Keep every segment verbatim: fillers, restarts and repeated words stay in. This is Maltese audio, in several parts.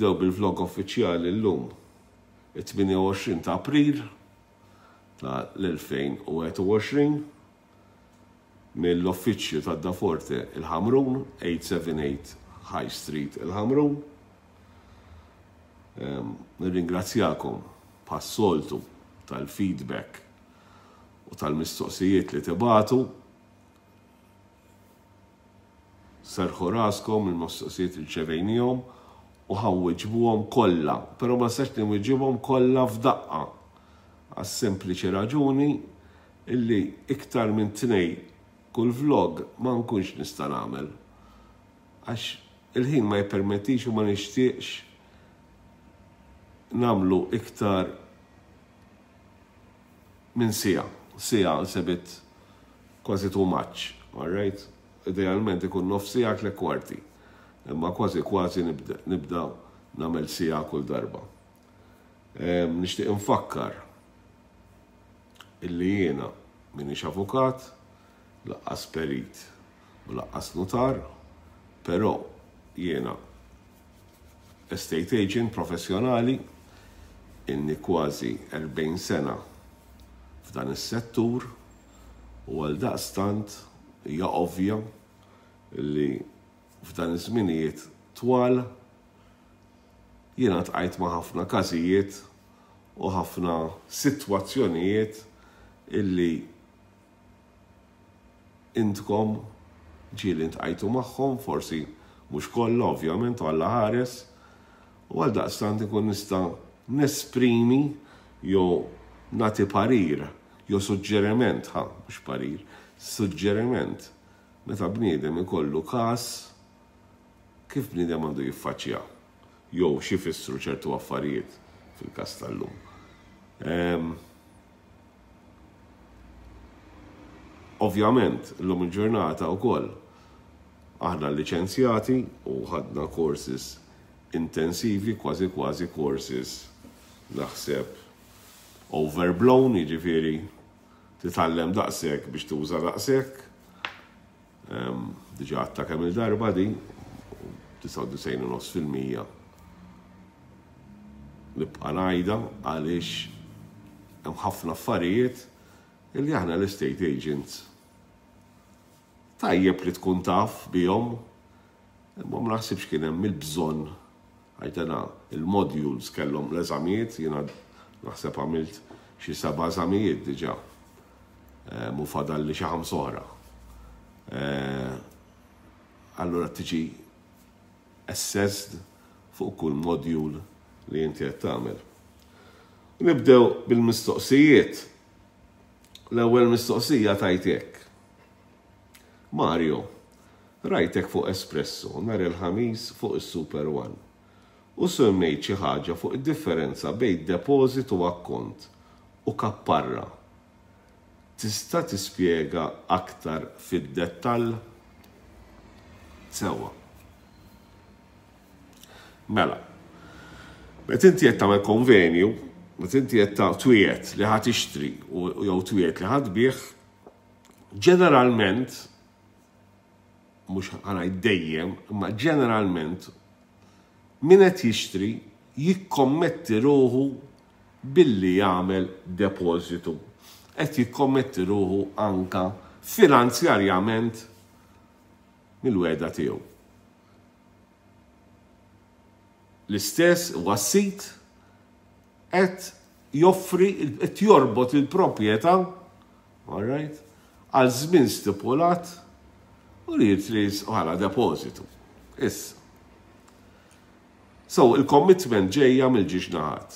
Nibdew bil-vlog uffiċjali llum, it-tmienja u għoxrin ta' April ta' l-elfejn u wieħed u għoxrin, mill-uffiċċju ta' Daforte il-Ħamrun, eight seven eight High Street il-Ħamrun. Ehm, nirringrazzjakom bħas-soltu tal-feedback u tal-mistoqsijiet li tibatu. Serħu raskom, il-mistoqsijiet irċevejnihom u ħawwiġbuhom kollha, però ma nistax niwiġibhom kollha f'daqqa għas-sempliċi raġuni illi iktar minn tnej kull vlog ma nkunx nista' nagħmel għax il-ħin ma jippermettix u ma nixtieqx nagħmlu iktar minn siegħa. Siegħa sebit kważi too much, all right? Idealment ikun nofs siegħa tliet kwarti, imma kważi kważi nibda, nibda nagħmel siegħa kull darba. Ehm, nixtieq infakkar illi jiena m'iniex avukat, laqqas perit u laqqas notar, però jiena estate agent professjonali, inni kważi erbgħin sena f'dan is-settur u għal daqstant hija ovvja li f'dan iż-żminijiet twal jiena tqajt ma' ħafna każijiet u ħafna sitwazzjonijiet illi intkom ġieli ntqajtu magħhom, forsi mhux kollha ovvjament u Alla ħares, u għal daqstant ikun nista' nesprimi jew nagħti parir jew suġġeriment, ħa, mhux parir, suġġeriment meta bniedem ikollu każ kif bniedem għandu jiffaċċja jew xi jfissru ċertu affarijiet fil-każ tal-lum. Ehm, ovvjament, illum il-ġurnata wkoll aħna liċenzjati u ħadna courses intensivi, kważi kważi courses naħseb overblown, jiġifieri titgħallem daqshekk biex tuża daqshekk. Ehm, diġà għadta kemm il-darba di, disgħa u disgħin u nofs fil-mija nibqa' ngħidha għaliex hemm ħafna affarijiet illi aħna l-estate agents tajjeb li tkun taf bihom, imma ma naħsibx kien hemm il-bżonn għax dana il-modules kellhom l-eżamijiet, jiena naħseb għamilt xi seba' eżamijiet diġà. Ehm, u fadal li xi ħamsa oħra. Ehm, allura tiġi assessed fuq kull module li inti qed tagħmel. Nibdew bil-mistoqsijiet. L-ewwel mistoqsija tajt hekk. Mario, rajtek fuq Espresso nhar il-Ħamis fuq is-Super One u semmejt xi ħaġa fuq id-differenza bejn deposit u akkont u kapparra. Tista' tispjega aktar fid-dettall? Sewwa. Mela, meta inti qed tagħmel konvenju, meta inti qed twiegħed li ħa tixtri u jew twiegħed li ħa tbigħ, ġeneralment, mhux ħa ngħid dejjem, imma ġeneralment min qed jixtri jikkommetti ruħu billi jagħmel depożitu. Qed jikkommetti ruħu anka finanzjarjament mill-wegħda tiegħu. L-istess huwa s-sid qed joffri, qed jorbot il-proprjetà, all right, għal żmien stipulat u li jitris bħala depożitu. Issa. So, il-commitment ġejja mill-ġiex naħat.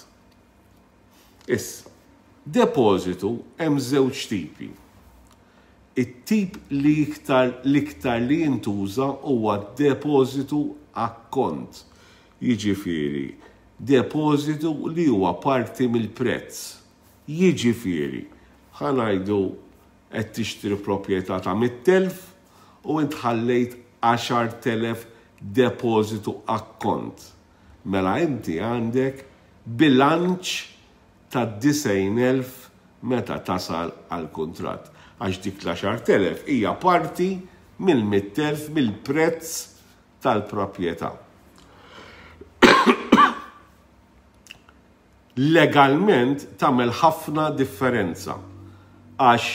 Issa, depożitu hemm żewġ tipi. It-tip li iktar, l-iktar li jintuża huwa depożitu akkont. Jiġifieri, depożitu li huwa parti mill-prezz. Jiġifieri, ħa ngħidu qed tixtri proprjetà ta' mitt elf u int ħallejt għaxart elef depożitu akkont. Mela inti għandek bilanċ ta' disgħin elf meta tasal għal kuntratt. Għax dik l-għaxart elef hija parti mill-mitt elf mill-prezz tal-proprjetà. Legalment tagħmel ħafna differenza. Għax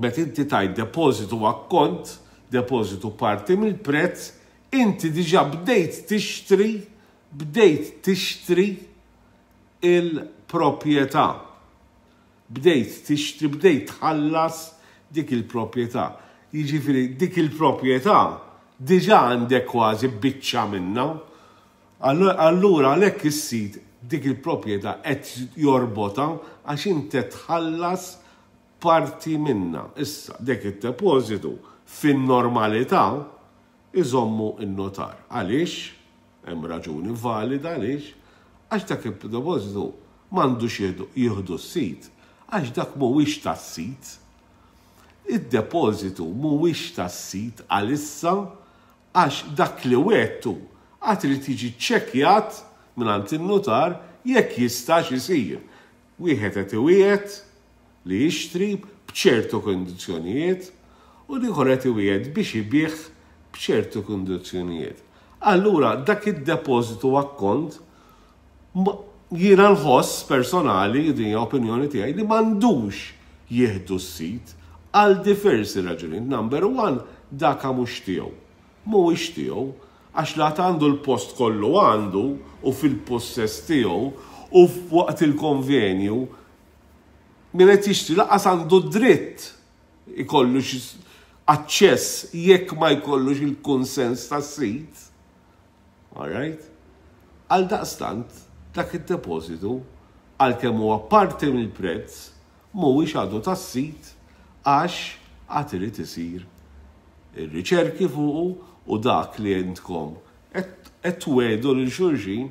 meta inti tajt depożitu akkont, depożitu parti mill-prezz, inti diġà bdejt tixtri, bdejt tixtri il-proprjetà. Bdejt tixtri, bdejt tħallas dik il-proprjetà. Jiġifieri dik il-proprjetà diġà għandek kważi biċċa minnha. Allura għalhekk is-sid dik il-proprjetà qed jorbotha għax inti tħallas parti minnha. Issa dik id-depożitu fin-normalità iżommu n-notar. Għaliex? Hemm raġuni valida għaliex? Għax dak id-depożitu m'għandux jieħdu s-sid, għax dak mhuwiex tas-sid. Id-depożitu mhuwiex tas-sid għalissa għax dak li wegħedtu għad irid jiġi ċċekkjat mingħand in-nutar jekk jistax isir. Wieħed qed iwiegħed li jixtri b'ċertu kundizzjonijiet u l-ieħor qed iwiegħed biex ibigħ b'ċertu kundizzjonijiet. Allura dak id-depożitu akkont jiena nħoss personali, din hija opinjoni tiegħi, li m'għandux jieħdu s-sid għal diversi raġunijiet. Number one, daka mhux tiegħu. Mhuwiex tiegħu għax la għandu l-post kollu għandu u fil-possess tiegħu u waqt il-konvenju min qed jixtri lanqas għandu dritt ikollu aċċess jekk ma jkollux il-konsens tas-sid. All right? Għal daqstant, dak id-depożitu għalkemm huwa parti mill-prezz mhuwiex għadu tas-sid għax għad irid isir ir-riċerki fuqu u dak li intkom qed twegħdu lil xulxin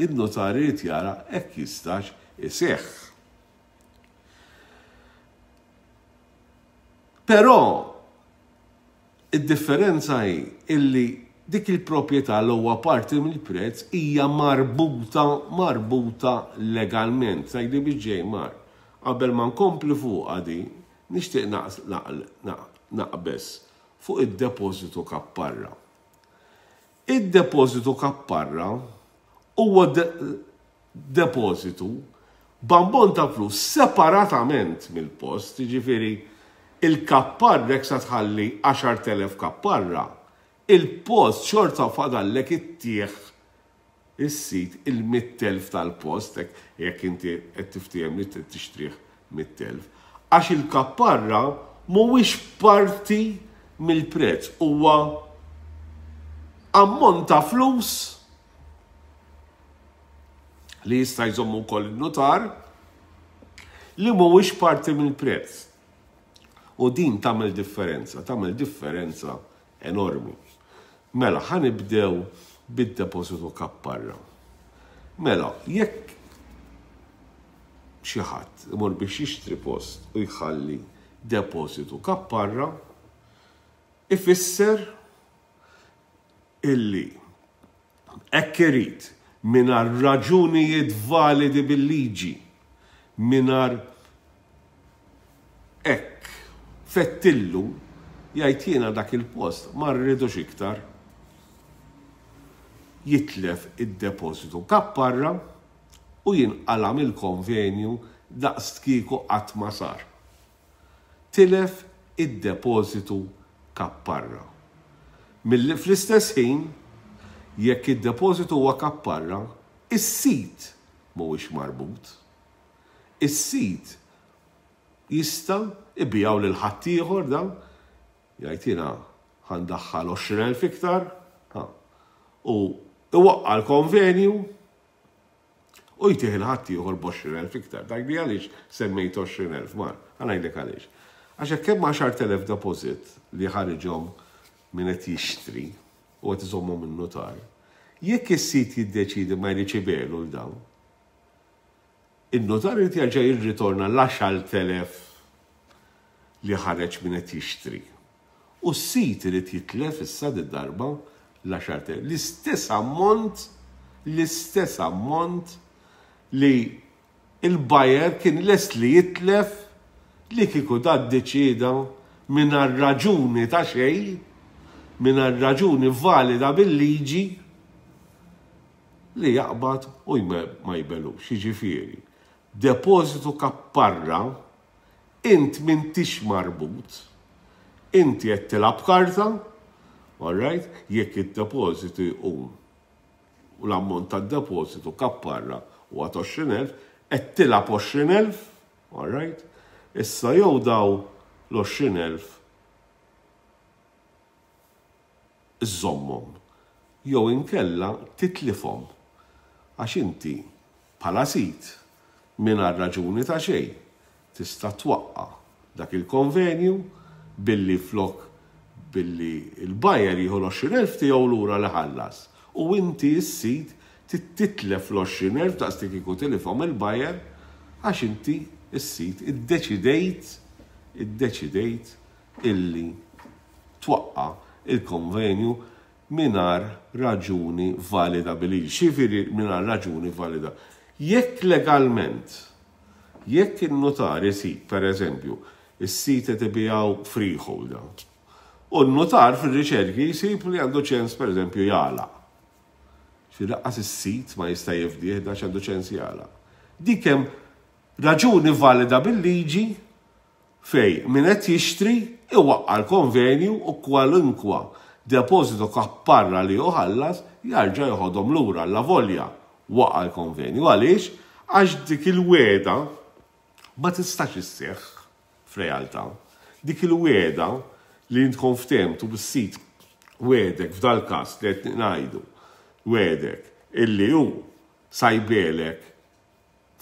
in-notar irid jara hekk jistax iseħħ. Però id-differenza hi illi dik il-proprjetà li huwa parti mill-prezz hija marbuta marbuta legalment. Tgħidli biex ġej mar. Qabel ma nkompli fuqha di, nixtieq naqbeż fuq id-depożitu kapparra. Id-depożitu kapparra huwa depożitu b'ammont ta' flus separatament mill-post, jiġifieri il-kapparra jekk sa tħalli għaxart elef kapparra, il-post xorta fadallek ittieħ is-sid il-mitt elf tal-post jekk inti qed tiftiehem li trid tixtrih mitt elf. Għax il-kapparra mhuwiex parti mill-prezz, huwa ammont ta' flus li jista' jżommu wkoll in-nutar li mhuwiex parti mill-prezz. U din tagħmel differenza, tagħmel differenza enormi. Mela, ħa nibdew bid-depożitu kapparra. Mela, jekk xi ħadd imur biex jixtri post u jħalli depożitu kapparra, ifisser illi hekk irid mingħajr raġunijiet validi bil-liġi, mingħajr hekk fettillu jgħid jiena dak il-post ma rridux iktar, jitlef id-depożitu kapparra u jinqala' mill-konvenju daqs kieku qatt ma sar. Tilef id-depożitu kapparra. Fl-istess ħin, jekk id-depożitu huwa kapparra, is-sid mhuwiex marbut. Is-sid jista' ibiegħu lil ħaddieħor dan, jgħid jiena ħa ndaħħal għoxrin elf iktar, u iwaqqa' l-konvenju u jtih il-ħaddieħor b'għoxrin elf iktar. Tgħidli għaliex semmejt għoxrin elf, Mar? Ħa ngħidlek għaliex. Għax hekk hemm għaxart elef deposit li ħariġhom min qed jixtri u qed iżommhom in-nutar, jekk is-sid jiddeċiedi ma jridx ibegħlu l dawn, in-nutar irid jerġa' jirritorna l-għaxart elef li ħareġ min qed jixtri. U s-sid irid jitlef issa did-darba l-għaxart elef. L-istess ammont, l-istess ammont li il-buyer kien lest li jitlef li kieku da ddeċieda mingħajr raġuni ta' xejn, mingħajr raġuni valida bil-liġi, li jaqbad u ma jbellux. Jiġifieri, depożitu kapparra, int m'intix marbut, inti qed tilgħab karta, all right, jekk id-depożitu jqum u l-ammont tad-depożitu kapparra huwa għoxrin elf, qed tilgħab għoxrin elf, all right, issa jew daw l-għoxrin elf iżommhom, jew inkella titlifhom, għax inti bħala sid mingħajr raġuni ta' xejn tista' twaqqa' dak il-konvenju billi flok billi il-buyer jieħu l-għoxrin elf tiegħu lura li ħallas u inti s-sid titlef l-għoxrin elf daqs li kieku tilifhom il-buyer għax inti s-sid iddeċidejt iddeċidejt illi twaqqa' il-konvenju mingħajr raġuni valida bil-liġi. Xifieri mingħajr raġuni valida? Jekk legalment, jekk in-notar isib, per eżempju, is-sit qed ibiegħu freeholder, u n-notar fir-riċerki jsib li għandu ċens, per eżempju, jagħlaq. Ġifieri lanqas is-sit ma jista' jifdih għax għandu ċens jagħlaq. Dik hemm raġuni valida bil-liġi fej min qed jixtri iwaqqa' l-konvenju u kwalunkwa depożitu kapparra li ħallas jarġa' joħodhom lura alla volja waqa' l-konvenju. Għaliex? Għax dik il-weda ma tistax isseħħ f'realtà. Dik il-weda li intkom ftehmtu bis-sit wedek f'dal-każ li qed ngħidu, wedek illi hu sajbelek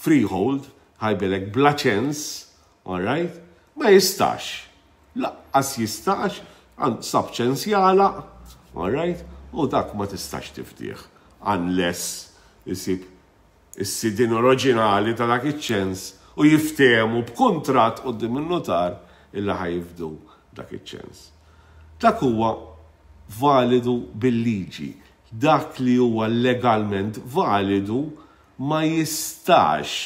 freehold, ħajbelek bla ċens, all right? Ma jistax. Laqqas jistax, għand sab ċens jagħlaq, all right? U dak ma tistax tifdih, unless isib is-sidin oriġinali ta' dak iċ-ċens u jiftehmu b'kuntratt quddiem in-notar illi ħajfdu dak iċ-ċens. Dak huwa validu bil-liġi. Dak li huwa legalment validu ma jistax,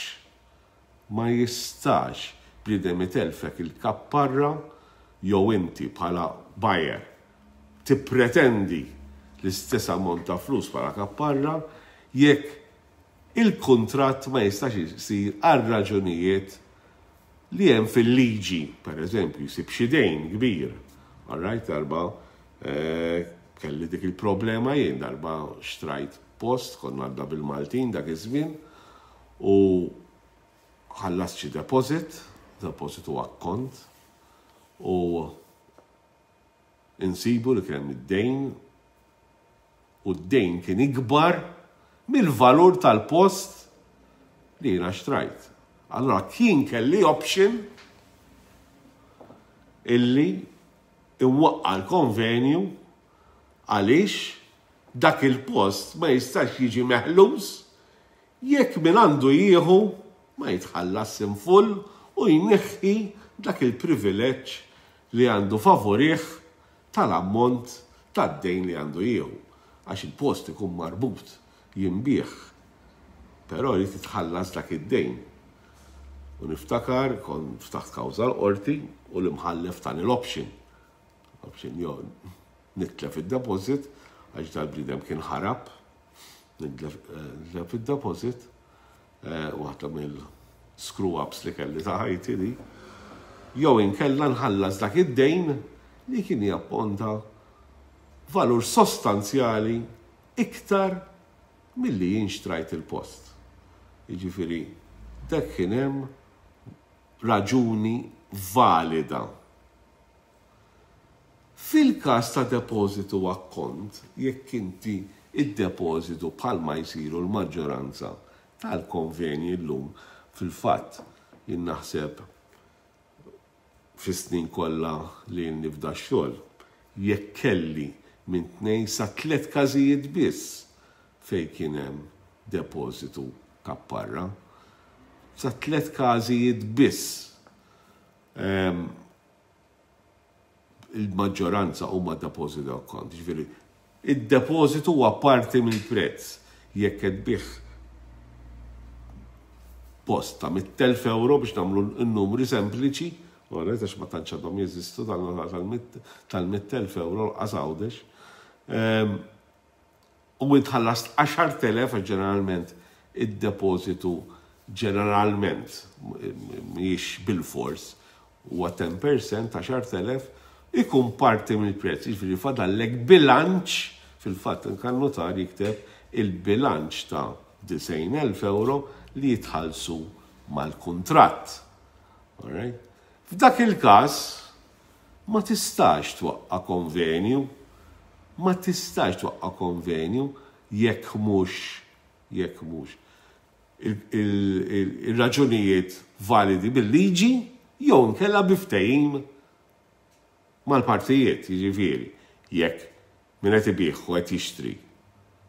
ma jistax bniedem itelfek il-kapparra jew inti bħala buyer tippretendi l-istess ammont ta' flus bħala kapparra jekk il-kuntratt ma jistax isir għal raġunijiet li hemm fil-liġi, per eżempju, jsib xi dejn kbir. All right, darba, eh, kelli dik il-problema jien, darba xtrajt post, konna għadda bil-Maltin dak iż-żmien, u ħallast xi deposit, deposit u akkont, u insibu li kien hemm id-dejn, u d-dejn kien ikbar mill-valur tal-post li jiena xtrajt. Allora kien kelli option illi iwaqqa' l-konvenju għaliex dak il-post ma jistax jiġi meħlus jekk min għandu jieħu ma jitħallas in full u jneħħi dak il-privileġġ li għandu favorih tal-ammont tad-dejn li għandu jieħu. Għax il-post ikun marbut jinbiegħ, però jrid jitħallas dak id-dejn. U niftakar kont ftaħt kawża l-qorti u l-imħallef tani l-option. Option jew nitlef id-deposit għax dal-bniedem kien ħarab, nitlef id-deposit, waħda mill-screw-ups li kelli ta' ħajti di, jew inkella nħallas dak id-dejn li kien japponta valur sostanzjali iktar milli jien xtrajt il-post. Jiġifieri, dak kien hemm raġuni valida. Fil-każ ta' depożitu akkont, jekk inti id-depożitu bħalma jsiru l-maġġoranza tal-konvenji llum, fil-fatt jien naħseb fis-snin kollha li jien nibda x-xogħol, jekk kelli minn tnejn sa tliet każijiet biss fejn kien hemm depożitu kapparra, sa tliet każijiet biss. Ehm, il-maġġoranza huma depożitu akkont. Ġifieri, id-depożitu huwa parti mill-prezz. Jekk qed tbigħ post ta' mitt elf euro biex nagħmlu n-numri sempliċi, għax ma tantx għadhom jeżistu tal-mitt elf euro l-qas Għawdex. Ehm, U int ħallast għaxart elef, ġeneralment id-depożitu, ġeneralment, mhijiex bil-fors, huwa għaxra fil-mija, għaxart elef, ikun parti mill-prezz, jiġifieri fadallek bilanċ, fil-fatt kan-nutar jikteb il-bilanċ ta' disgħin elf euro li jitħallsu mal-kuntratt. F'dak il-każ ma tistax twaqqa konvenju, ma tistax twaqqa konvenju jekk mhux jekk mhux il-raġunijiet validi bil-liġi jew nkella bi ftehim mal-partijiet, jiġifieri, jekk min qed ibigħ u qed jixtri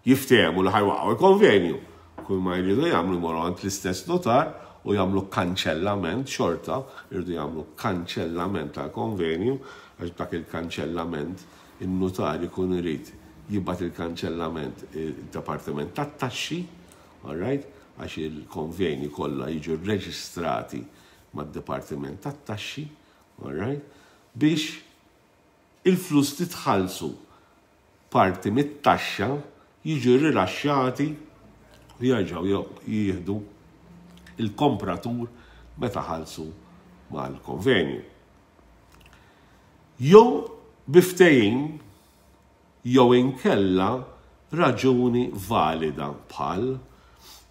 jiftehmu li ħa jwaqqgħu il-konvenju. Kull ma jridu jagħmlu, jmorru għand l-istess notar u jagħmlu kanċellament xorta, jridu jagħmlu kanċellament tal-konvenju, għax dak il-kanċellament il-notar ikun irid jibgħat il-kanċellament il-Dipartiment tat-Taxxi, all right? Għax il-konvenji kollha jiġu reġistrati mad-Dipartiment tat-Taxxi, all right? Biex il-flus titħallsu parti mit-taxxa jiġu rilaxxati u jerġgħu jieħdu il-kompratur meta ħallsu mal-konvenju. Jew bi ftehim jew inkella raġuni valida bħal,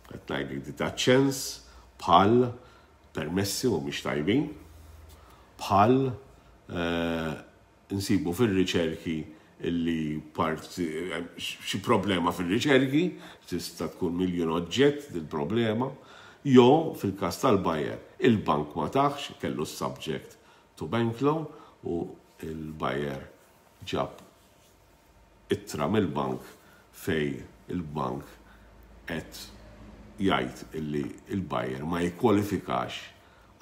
qed ngħidlek di ċens, bħal permessi u mhix tajbin, bħal eh, nsibu fil-riċerki illi part xi problema fil-riċerki, tista' tkun miljon oġġett dil-problema, jew fil-każ tal-buyer, il-bank ma tahx, kellu subject to bank loan u il-buyer ġab ittra mill-bank fej il-bank qed jgħid illi il-buyer ma jikkwalifikax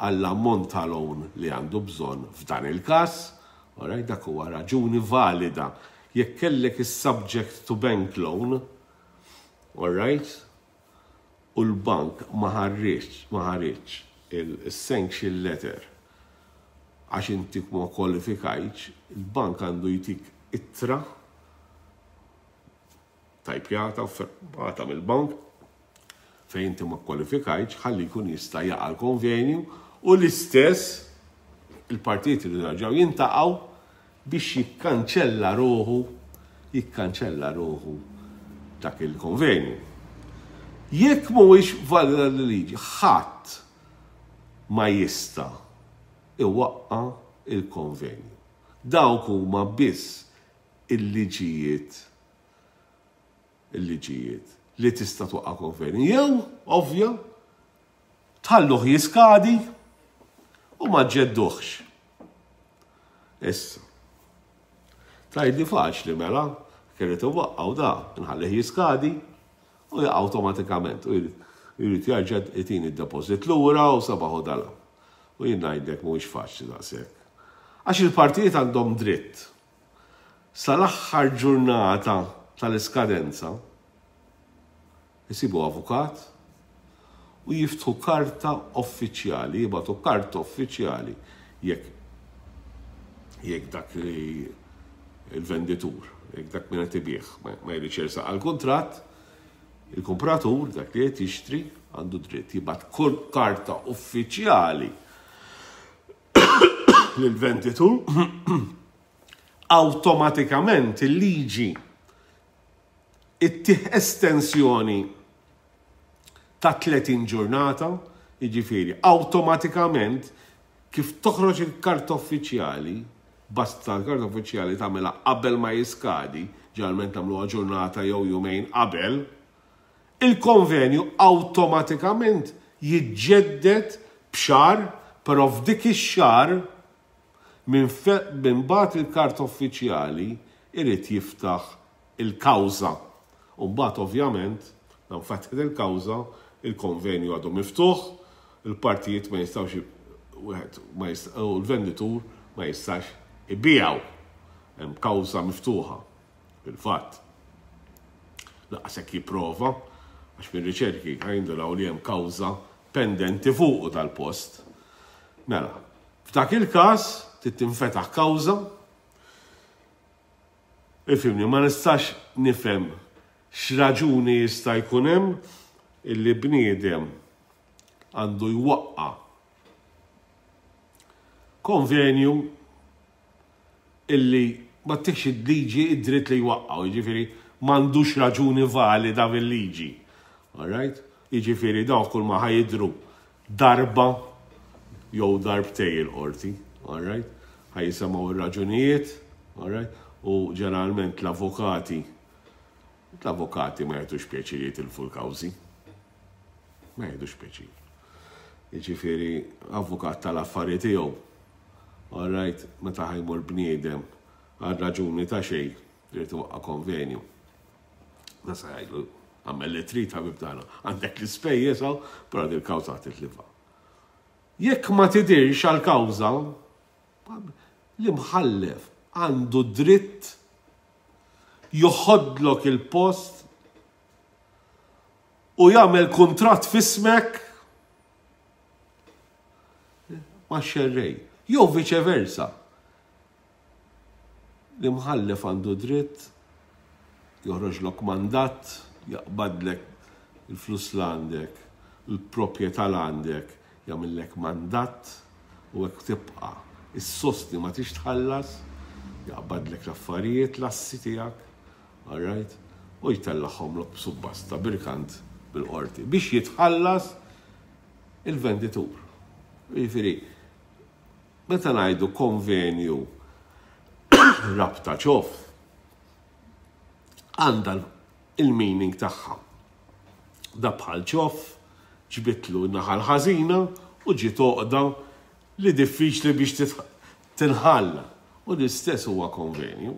għall-ammont ta' loan li għandu bżonn f'dan il-każ, alright, dak huwa raġuni valida. Jekk kellek is-subject to bank loan, alright, u l-bank ma ħareġ, ma ħareġ il-sanction letter għax inti ma kwalifikajtx, il-bank għandu jtik ittra tajpjata u firmata mill-bank fejn inti ma kwalifikajtx ħalli jkun jista' jaqa' l-konvenju u l-istess il-partijiet li raġaw jiltaqgħu biex jikkanċella ruħu jikkanċella ruħu dak il-konvenju. Jekk mhuwiex valida l-liġi, ħadd ma jista' iwaqqa il-konvenju. Dawk huma biss il-liġijiet il-liġijiet li tista' twaqqa konvenju. Jew, ovvja, tħalluh jiskadi u ma ġedduħx. Issa. Tgħidli faċli mela, kienet iwaqqaw da, nħallih jiskadi u jaqa' awtomatikament. U jrid jarġa' jtini d-deposit lura u sabaħu dala. U jien ngħidlek mhuwiex faċli daqshekk. Għax il-partijiet għandhom dritt sal-aħħar ġurnata tal-iskadenza jisibu avukat u jiftħu karta uffiċjali, jibagħtu karta uffiċjali jekk jekk dak li il-venditur, jekk dak min qed ibigħ ma jridx jersaq għal-kuntratt, il-kompratur, dak li qed jixtri, għandu dritt jibgħat karta uffiċjali lill-venditur. Awtomatikament il-liġi ittih estensjoni ta' tletin ġurnata, jiġifieri awtomatikament kif toħroġ il-karta uffiċjali, basta l-karta uffiċjali tagħmilha qabel ma jiskadi, ġeneralment nagħmluha ġurnata jew jumejn qabel, il-konvenju awtomatikament jiġġedded b'xahar, però f'dik ix-xahar minn bagħat il-karta uffiċjali irid jiftaħ il-kawża. U mbagħad ovvjament, dan fetħet il-kawża, il-konvenju għadu miftuħ, il-partijiet ma jistawx wieħed ma u l-venditur ma jistax ibigħu. Hemm kawża miftuħa fil-fatt. Lanqas hekk jipprova, għax mir-riċerki ħa jindunaw li hemm kawża pendenti fuqu tal-post. Mela, f'dak il-każ trid tinfetaħ kawża. Ifhimni, ma nistax nifhem X'raġuni jista' jkun hemm illi bniedem għandu jwaqqa' konvenju illi ma ttikx il-liġi id-dritt li jwaqqgħu, jiġifieri m'għandux raġuni valida fil-liġi. Alright? Jiġifieri dawn kull ma ħa jidhru darba jew darbtejn il-qorti, alright? Ħa jisimgħu ir-raġunijiet, alright? U ġeneralment l-avukati l-avukati ma jagħtux pjaċir jitilfu l-kawżi. Ma jagħtux pjaċir. Jiġifieri avukat tal-affari tiegħu. Alright, meta ħa jmur bniedem għal raġuni ta' xejn irid iwaqqa' konvenju. Da sa jgħidlu, "Għamel li trid, ħabib tagħna, għandek l-ispejjeż hawn, però dil-kawża titlifha." Jekk ma tidirx għal-kawża, l-imħallef għandu dritt joħodlok il-post u jagħmel kuntratt f'ismek ma' xerrej. Jew vice versa. L-imħallef għandu dritt joħroġlok mandat, jaqbadlek il-flus l għandek, il-proprjetà l għandek, jagħmillek mandat u hekk tibqa' issostni ma tix tħallas, jaqbadlek l-affarijiet, l-assi tiegħek, all right, u jtellagħhomlok b'subbasta b'irkant bil-qorti biex jitħallas il-venditur. Jiġifieri, meta ngħidu konvenju rabta ċoff, għandha il-meaning tagħha. Da bħal ċoff, ġbidtlu naħa l-ħażina u ġiet għoqda li diffiċli biex tinħalla. U l-istess huwa konvenju.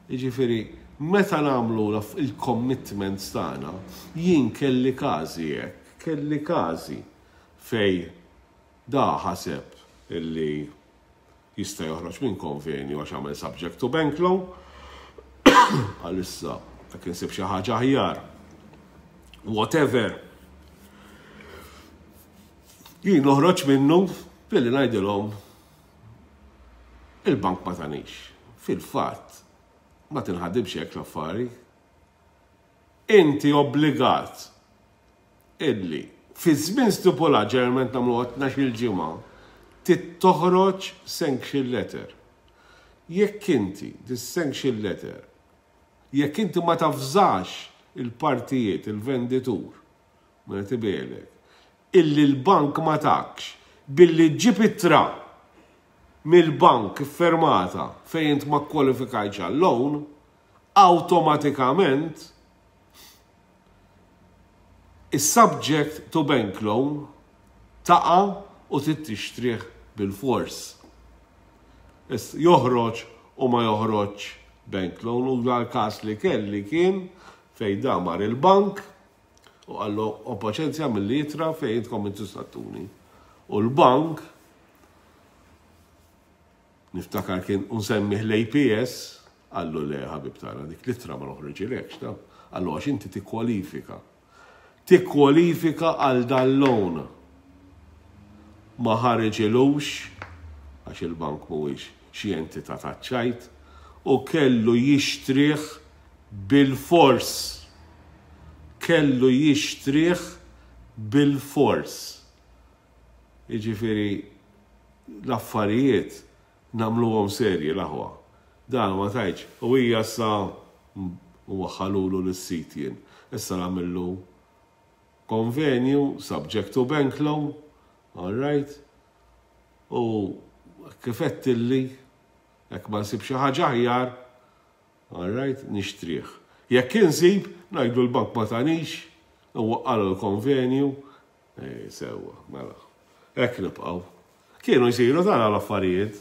Jiġifieri, meta nagħmlu il-commitments tagħna, jien kelli każi hekk, kelli każi fej da ħaseb illi jista' joħroġ minn konvenju għax għamel subject to bank loan, għalissa jekk insib xi ħaġa aħjar. Whatever. Jien noħroġ minnu billi ngħidilhom il-bank ma tanix. Fil-fatt, ma tinħadimx hekk l-affari. Inti obbligat illi fi żmien stipulat, ġeneralment nagħmlu tnax-il ġimgħa, toħroġ sanction letter. Jekk inti dis sanction letter, jekk inti ma tafżax il-partijiet, il-venditur, ma tibelek, illi l-bank ma takx, billi ġib ittra mill-bank fermata fejn int ma kwalifikajx għal-loan, automatikament is-subject to bank loan taqa' u trid tixtrih bil-fors. Joħroġ u ma joħroġ bank loan, u dal-kas li kelli kien fej da mar il-bank u qallu, "O paċenzja, mill-ittra fej intkom intu sattuni." U l-bank, niftakar kien unsemmih l-A P S, qallu, "Le, ħabib tagħna, dik l-ittra ma noħroġilekx ta." Qallu, "Għax inti tikkwalifika. Tikkwalifika għal dal-loan." Ma ħareġilux għax il-bank mhuwiex xi entità taċ-ċajt u kellu jixtrih bil-fors. Kellu jixtrih bil-fors. Jiġifieri l-affarijiet nagħmluhom serji, l-aħwa. Dan ma tajċ, u hija sa u waħħalulu l-sit jien. Issa nagħmillu konvenju, subject to bank loan, all right, u kif illi jekk ma nsib xi ħaġa aħjar, all right, nixtrih. Jekk insib, ngħidu l-bank ma tanix, u waqqalu l-konvenju, eh, sewwa, mela. Hekk nibqgħu. Kienu jsiru dan l-affarijiet,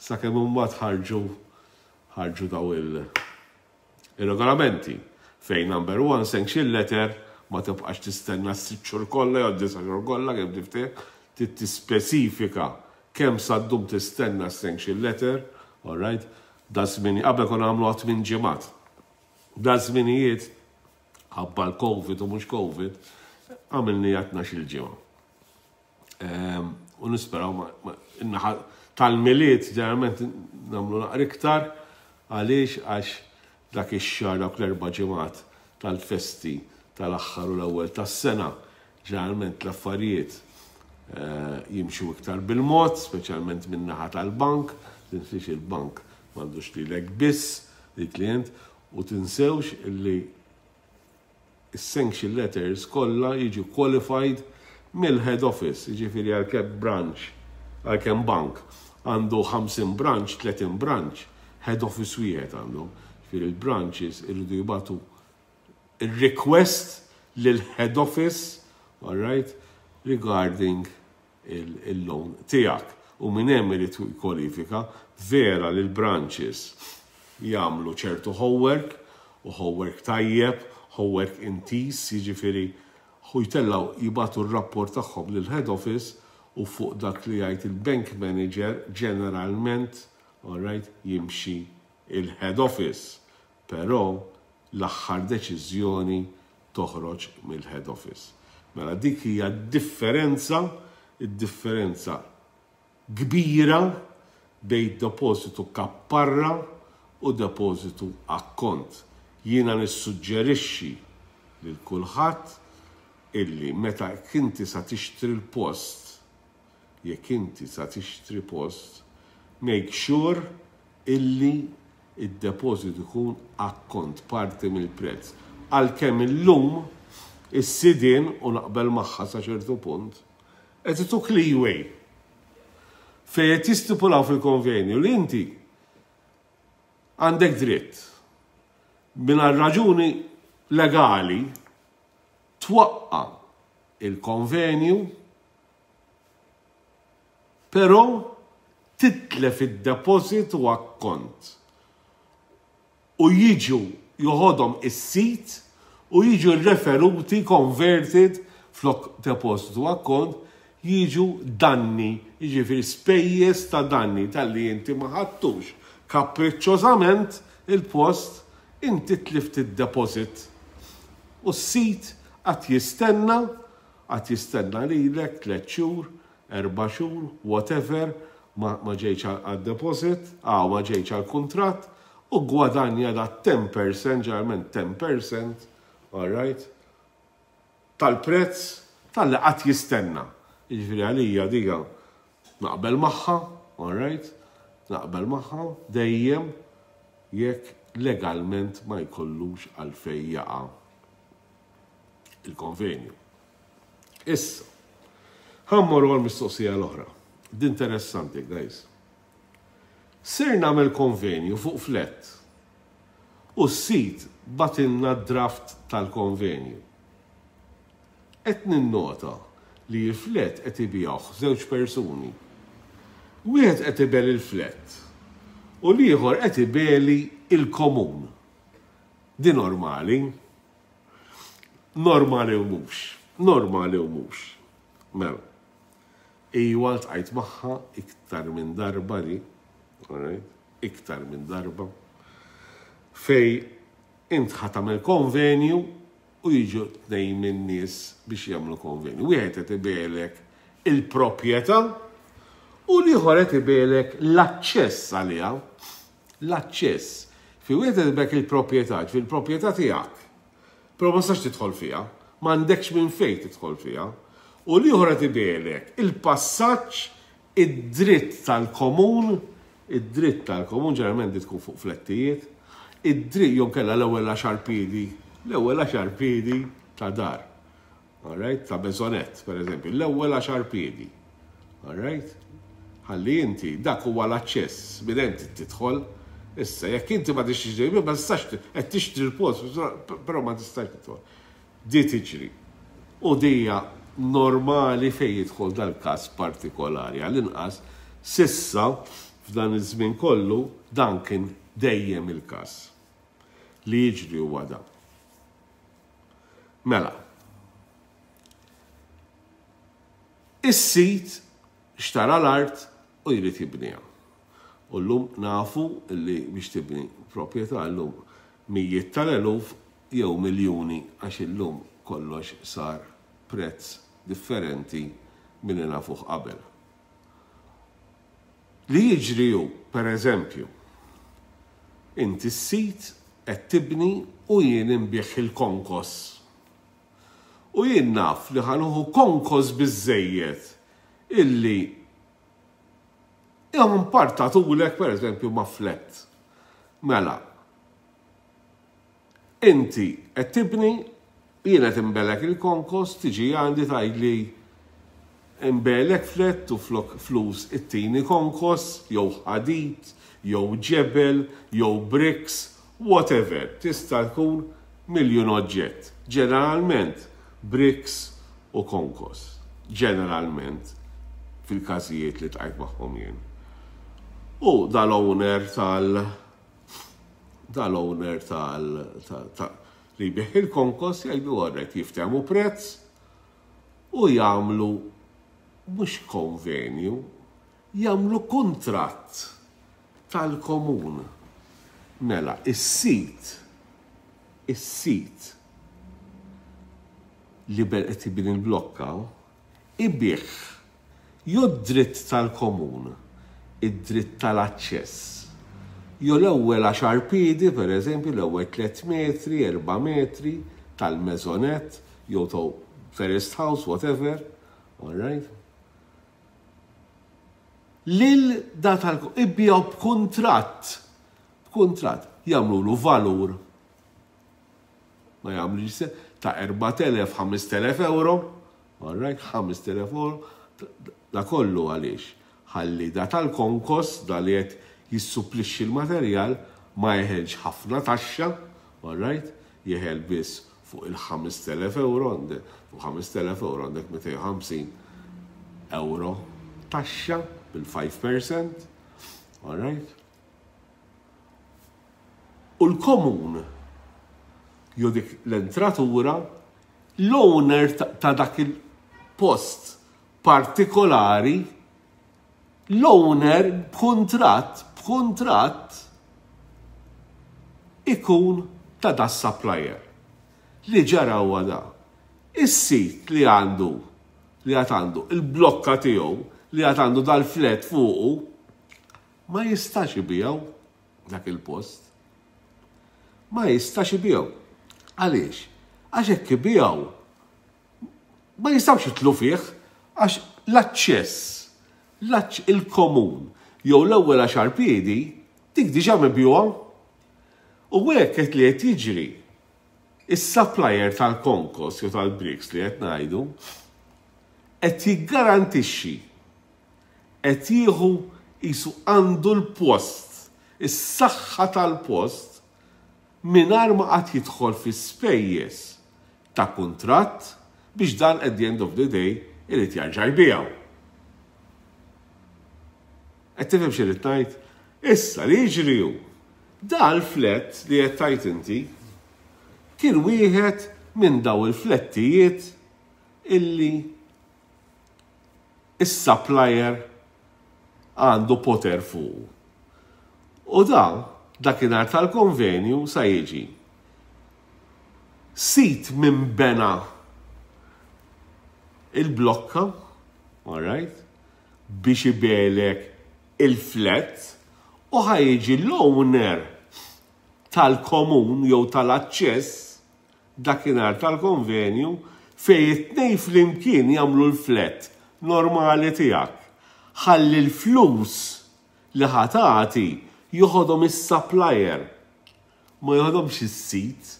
sakemm imbagħad ħarġu ħarġu daw il- il-regolamenti fejn number one, sanction letter ma tibqax tistenna s-sitt xhur kollha jew disa' xhur kollha kemm tiftek, trid tispeċifika kemm sa ddum tistenna sanction letter, all right? Da żmien qabel konna nagħmlu għat minn ġimgħat. Da żminijiet ħabba l-Covid u mhux Covid għamilni tnax-il ġimgħa. Ehm, u nisperaw in-naħa tal-Milied ġeneralment nagħmlu naqra iktar. Għaliex? Għax Dak ix-xahar, dawk l-erba' ġimgħat tal-festi tal-aħħar u l-ewwel tas-sena, ġeneralment l-affarijiet eh, jimxu iktar bil-mod, speċjalment min-naħa tal-bank. Tinsiex, il-bank m'għandux lilek biss il-klient u tinsewx illi sanction letters kollha jiġu qualified mill-head office, jiġifieri għalkemm branch, għalkemm bank għandu ħamsin branch, tletin branch, head office wieħed għandu. Jiġifieri il-branches irridu jibagħtu il-request lil-head office, all right, regarding il-loan tiegħek. U minn hemm irid kwalifika. Vera li l-branches jagħmlu ċertu homework, u homework tajjeb, homework intis, jiġifieri hu jtellaw jibagħtu r-rapport tagħhom lil head office u fuq dak li jgħid il-bank manager ġeneralment, all right, jimxi il-head office. Però l-aħħar deċiżjoni toħroġ mill-head office. Mela dik hija differenza, id-differenza kbira bejn depositu kapparra u depositu akkont. Jiena nissuġġerixxi lil kulħadd illi meta inti sa tixtri l-post, jekk inti sa tixtri post, make sure illi id-deposit ikun akkont, parti mill-prezz. Għalkemm illum is-sidien, u naqbel magħha sa ċertu punt, qed ituk leeway fejn qed jistipulaw fil-konvenju li inti għandek dritt minn raġuni legali twaqqa il-konvenju, però titlef id-deposit u akkont u jiġu joħodhom is-sit u jiġu referuti, converted, flok deposit u akkont jiġu danni, jiġifieri spejjeż ta' danni talli inti ma ħadtux kapriċċożament il-post, inti tlift id-deposit. U s-sit għad jistenna, għad jistenna lilek tliet xhur, erba' xhur, whatever, ma, ma ġejx għad-deposit, għaw ma ġejx għal-kontrat, u gwadanja da ten percent, ġeneralment ten percent, all right, tal-prezz talli qed jistenna. Jiġifieri għalija diga naqbel magħha, all right, naqbel magħha dejjem jekk legalment ma jkollux għalfej jaqa' il-konvenju. Issa, ħa mmorru għal-mistoqsija l-oħra. Din interessanti, guys. Ser nagħmel konvenju fuq flat u s-sit bagħtilna draft tal-konvenju. Qed ninnota li l-flat qed ibigħuh żewġ persuni. Wieħed qed ibigħli il-flat u l-ieħor qed ibigħli il-komun. Di normali? Normali u mhux. Normali u mhux. Mela. Iwa, ltqajt magħha iktar minn darba di, alright? Iktar minn darba. Fejn int ħa tagħmel konvenju u jiġu tnejn minn nies biex jagħmlu konvenju. Wieħed qed ibigħlek il-proprjetà u l-ieħor qed ibigħlek l-aċċess għaliha. L-aċċess. Fi wieħed qed ibigħlek il-proprjetà, fil-proprjetà tiegħek. Però ma tistax tidħol fiha, m'għandekx minn fejn tidħol fiha. U l-ieħor qed ibigħlek il-passaġġ, id-dritt tal-komun, id-dritt tal-komun ġeneralment tkun fuq flettijiet, id-dritt jew inkella l-ewwel għaxar piedi, l-ewwel għaxar piedi ta' dar. Alright, ta' maisonette, per eżempju, l-ewwel għaxar piedi. Alright? Ħalli inti, dak huwa l-aċċess, minn hemm tidħol. Issa, jekk inti ma tixtri, ma tistax, qed tixtri l-post, però ma tistax tidħol. Di tiġri. U dija normali fejn jidħol dal-każ partikolari. Għall-inqas, s'issa, f'dan iż-żmien kollu, dan kien dejjem il-każ. Li jiġri huwa dan. Mela. Is-sit xtara l-art u jrid jibniha. U llum nafu li biex tibni proprjetà llum mijiet tal-eluf jew miljuni, għax illum kollox sar prezz differenti milli nafuh qabel. Li jiġri hu, per eżempju, inti s-sit qed qed tibni u jien inbigħ il-konkos. U jien naf li ħa nieħu konkos biżżejjed illi partatulek, per eżempju, ma' flat. Mela, inti qed tibni, jien qed inbigħlek il-konkos, tiġi għandi tgħidli nbigħlek flat u flok flus ittini konkos, jew ħadid, jew ġebel, jew bricks, whatever. Tista' tkun miljun oġġett. Ġeneralment, bricks u konkos. Ġeneralment, fil-każijiet li ltqajt magħhom jien. U dal-owner tal- dal-owner tal li jbigħ il-konkos jgħidu għarret, jiftehmu prezz u jagħmlu mhux konvenju, jagħmlu kuntratt tal-komun. Mela, is-sid, is-sid li qed jibni il-blokka, ibigħ jew dritt tal-komun, id-dritt tal-aċċess. Jew l-ewwel għaxar piedi, per eżempju, l-ewwel tliet metri, erba' metri tal-maisonette, jew ta' terraced house, whatever, all right? Lil da tal ibigħu b'kuntratt, b'kuntratt, jagħmlu valur ma jagħmlu ta' erbat elef, ħamest elef euro, all right, ħamest elef euro, da kollu għaliex? Ħalli da tal-konkos, da li qed jissupplixxi l-materjal, ma jeħelx ħafna taxxa, all right, jeħel biss fuq il-ħamest elef euro, fuq ħamest elef euro għandek mitejn u ħamsin euro taxxa bil-five percent, all right? U l-komun, jew dik l-entratura, l-owner ta' dak il-post partikolari, l-owner b'kuntratt, b'kuntratt ikun ta' da supplier. Li ġara huwa da. Is-sit li għandu, li għad għandu, il-blokka tiegħu, li għad għandu dal-flat fuqu, ma jistax ibigħu dak il-post. Ma jistax ibigħu. Għaliex? Għax hekk ibigħu ma jistawx jitilgħu fih għax l-aċċess, il-komun, jew l-ewwel għaxar piedi, dik diġà mibjugħa. U hekk qed li qed jiġri, is-supplier tal-konkos jew tal-bricks li qed ngħidu qed jiggarantixxi, qed jieħu jisu għandu l-post, is-saħħa tal-post, mingħajr ma qatt jidħol fi spejjeż ta' kuntratt biex dan at the end of the day irid jarġa' jbigħu. Qed tifhem xi ngħid? Issa li jiġri hu, dal-flat li qed tgħid inti kien wieħed minn daw il-flettijiet illi is-supplier għandu poter fuq. U da, dakinhar tal-konvenju sa jiġi sit minn bena il-blokka, all right, biex ibigħlek il-flat u ħa jiġi l-owner tal-komun jew tal-aċċess dakinhar tal-konvenju fej it-tnejn flimkien jagħmlu l-flat normali tiegħek. Ħalli l-flus li ħa tagħti joħodhom is-supplier, ma joħodhomx is-sit,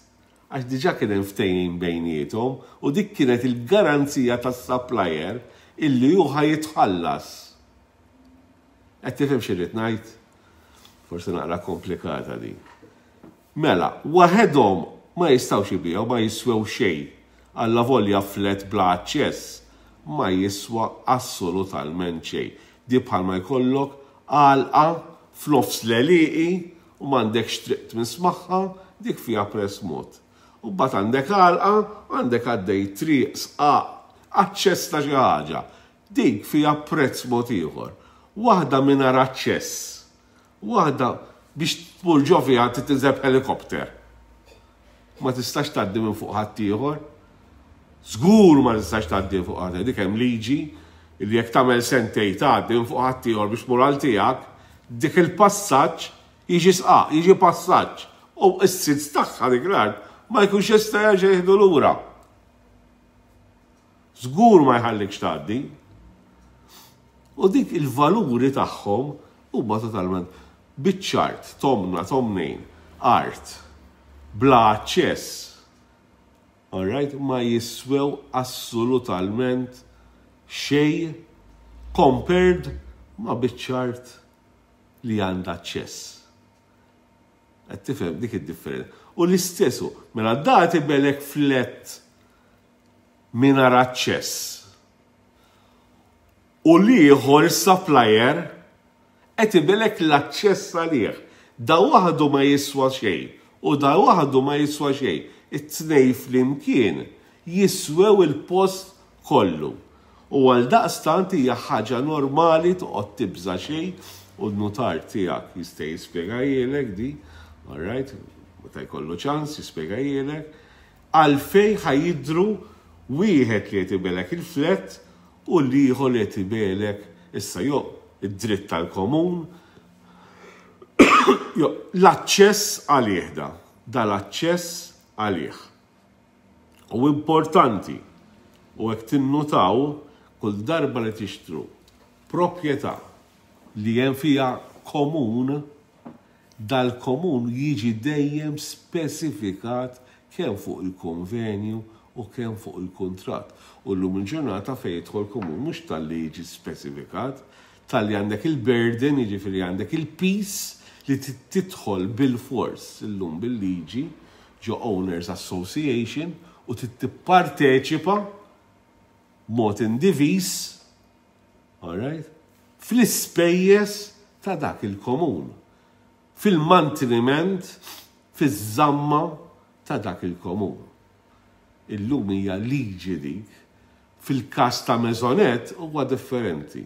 għax diġà kien hemm ftehim bejniethom u dik kienet il-garanzija tas-supplier illi hu ħa jitħallas. Qed tifhem xi rrid ngħid? Forsi naqra komplikata din. Mela, waħedhom ma jistgħux jbigħu, ma jiswew xejn. Alla volja flat bla aċċess ma jiswa assolutament xejn. Di bħalma jkollok għalqa f'nofs l-għelieqi u m'għandekx triq tmiss magħha, dik fiha prezz mod. U mbagħad għandek għalqa, għandek għaddej triq, sqaq, aċċess ta' xi ħaġa. Dik fiha prezz mod ieħor. Waħda mingħajr aċċess. Waħda biex tmur ġo fiha tinżel helikopter. Ma tistax tgħaddi minn fuq ħaddieħor. Żgur ma tistax tgħaddi fuq ħadd. Dik hemm liġi li jekk tagħmel sentej tgħaddi minn fuq ħaddieħor biex tmur għal tiegħek, dik il-passaġġ jiġi sqaq, jiġi passaġġ. U s-sid tagħha dik l-art ma jkunx jista' jerġa' jieħdu lura. Żgur ma jħallikx tgħaddi. U dik il-valuri tagħhom huma totalment biċċa art, tomna, tomnejn, art, bla aċċess. Alright, ma jiswew assolutament xejn compared ma biċċa art li għandha aċċess. Qed tifhem dik id-differenza. U l-istessu, mela da tbigħlek flat mingħajr aċċess. U l-ieħor supplier qed ibigħlek l-aċċess għalih. Da waħdu ma jiswa xejn u da waħdu ma jiswa xejn. It-tnejn flimkien jiswew il-post kollu. U għal daqstant hija ħaġa normali toqgħod tibża xejn u n-nutar tiegħek jista' jispjegahielek di, all right, meta jkollu ċans jispjegahielek, għalfejn ħa jidhru wieħed li qed ibigħlek il-flat u l-ieħor li qed ibigħlek issa jo id-dritt tal-komun, jo l-aċċess għalih da, da l-aċċess għalih. U importanti, u hekk tinnutaw kull darba li tixtru proprjetà li hemm fiha komun, dal-komun jiġi dejjem spesifikat kemm fuq il-konvenju u kemm fuq il-kuntratt. U llum il-ġurnata fejn jidħol komun mhux talli jiġi spesifikat, talli għandek il-burden, jiġifieri għandek il-piż li tidħol bil-fors illum bil-liġi ġo Owners Association u tipparteċipa mod indivis, all right, fl-ispejjeż ta' dak il-komun, fil-manteniment, fiż-żamma ta' dak il-komun. Illum hija liġi dik, fil-każ ta' maisonette huwa differenti.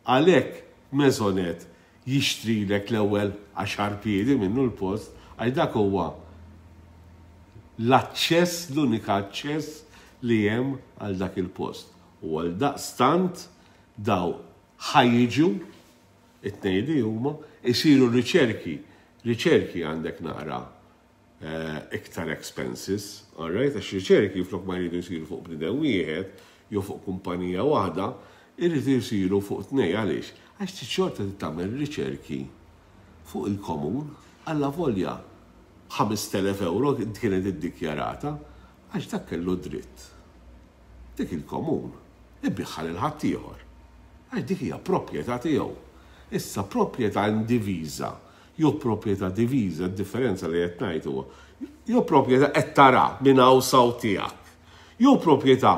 Għalhekk maisonette jixtrilek l-ewwel għaxar piedi minnu l-post, għax dak huwa l-aċċess, l-unika aċċess li hemm għal dak il-post. U għal daqstant daw ħa jiġu, it-tnejn li huma, isiru riċerki. Riċerki għandek naqra eh, iktar expenses, all right? Għax riċerki flok ma jridu jsiru fuq bniedem wieħed jew fuq kumpanija waħda, irridu jsiru fuq tnej. Għaliex? Għax xorta tagħmel riċerki fuq il-komun, għalla volja ħamest elef euro kienet iddikjarata, għax dak kellu dritt. Dik il-komun ibigħha lil ħaddieħor. Għax dik hija proprjetà tiegħu. Issa proprjetà indiviża jew proprjetà diviża, differenza li qed ngħid huwa jew proprjetà qed tara minn hawn saw tiegħek. Jew proprjetà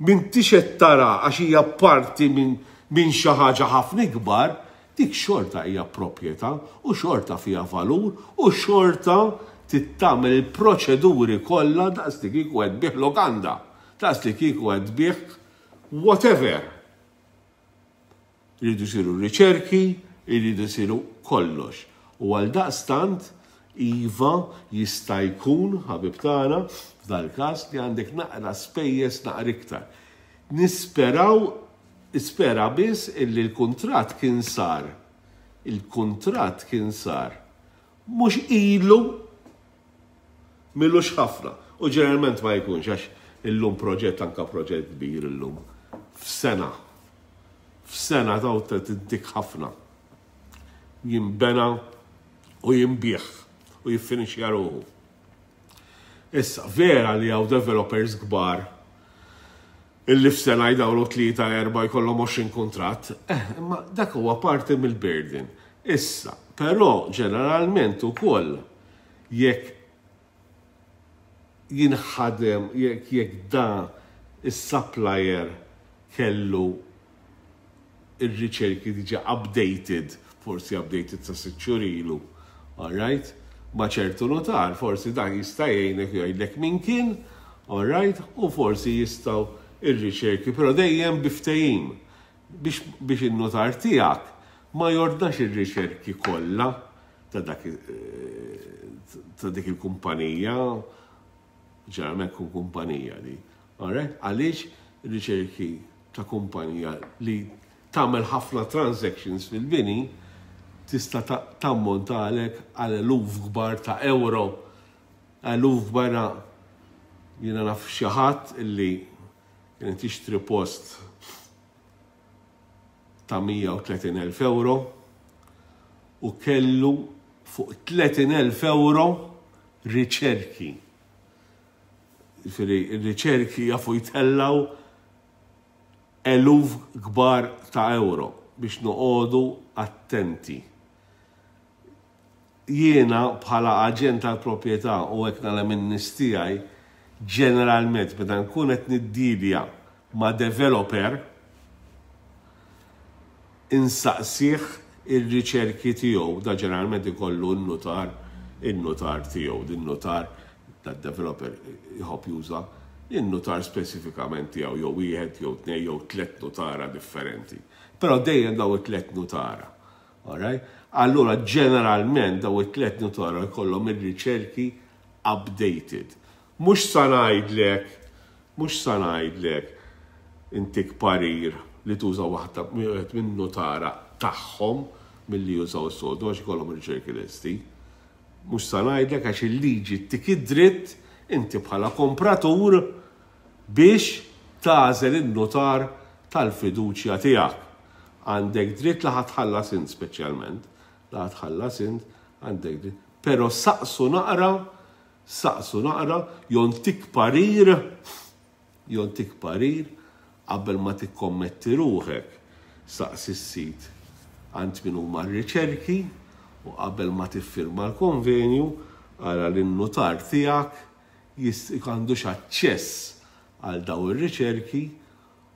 m'intix qed tara għax hija parti minn min xi ħaġa ħafna ikbar, dik xorta hija proprjetà u xorta fiha valur u xorta tagħmel il-proċeduri kollha daqs li kieku qed tbigħ lokanda, daqs li kieku qed tbigħ whatever. Iridu jsiru riċerki, iridu jsiru kollox. U għal daqstant, iva, jista' jkun, ħabib tagħna, f'dal-każ li għandek naqra spejjeż naqra iktar. Nisperaw, ispera biss illi l-kuntratt kien sar. Il-kuntratt kien sar. Mhux ilu m'ilux ħafna. U ġeneralment ma jkunx, għax illum proġett, anka proġett kbir illum. F'sena. F'sena taw tintik ħafna. Jimbena u jinbiegħ u jiffinixja ruħu. Issa, vera li hawn developers kbar illi f'sena jdawru tlieta erba' jkollhom għoxrin kuntratt, eh, imma dak huwa parti mill-burden. Issa, però ġeneralment ukoll jekk jinħadem, jekk jekk da is-supplier kellu ir-riċerki diġa updated, forsi updated sa sitt xhur ilu, all right? Ma ċertu notar, forsi dan jista' jgħinek, jgħidlek min kien, all right? U forsi jistgħu ir-riċerki, però dejjem bi ftehim biex, biex in-notar tiegħek ma jordnax ir-riċerki kollha ta' dak eh, ta' dik il-kumpanija, ġeneralment kun kumpanija di. Alright? Għaliex riċerki ta' kumpanija li tagħmel ħafna transactions fil-bini tista' ta- tammontalek għal eluf kbar ta' euro. Eluf barra. Jiena naf xi ħadd illi kien tixtri post ta' mija u tletin elf euro u kellu fuq tletin elf euro riċerki. Jiġifieri, ir-riċerki jafu jtellaw eluf kbar ta' euro, biex noqogħdu attenti. Jiena bħala aġent tal-proprjetà, u hekk nagħmel in-nies tiegħi, ġeneralment meta nkun qed niddilja ma' developer, insaqsih ir-riċerki tiegħu. Da ġeneralment ikollu n-nutar, in-nutar tiegħu, din nutar tad-developer jħobb juża in-nutar speċifikament tiegħu, jew wieħed jew tnejn jew tliet nutara differenti. Però dejjem daw it-tliet nutara. Alright? Allura ġeneralment daw it-tliet nutara jkollhom ir-riċerki updated. Mhux sa ngħidlek, mhux sa ngħidlek intik parir li tuża waħda minn nutara tagħhom milli jużaw is-sodu għax ikollhom ir-riċerki lesti. Mhux sa ngħidlek, għax il-liġi ttik id-dritt inti bħala kompratur biex tagħżel in-nutar tal-fiduċja tiegħek. Għandek dritt li ħa tħallas int speċjalment, li ħa tħallas int, għandek dritt. Però saqsu naqra, saqsu naqra, jontik parir, jontik parir, qabel ma tikkommetti ruħek, saqsi s-sid għand min huma r-riċerki u qabel ma tiffirma l-konvenju, ara li n-nutar tiegħek għandux aċċess għal daw ir-riċerki,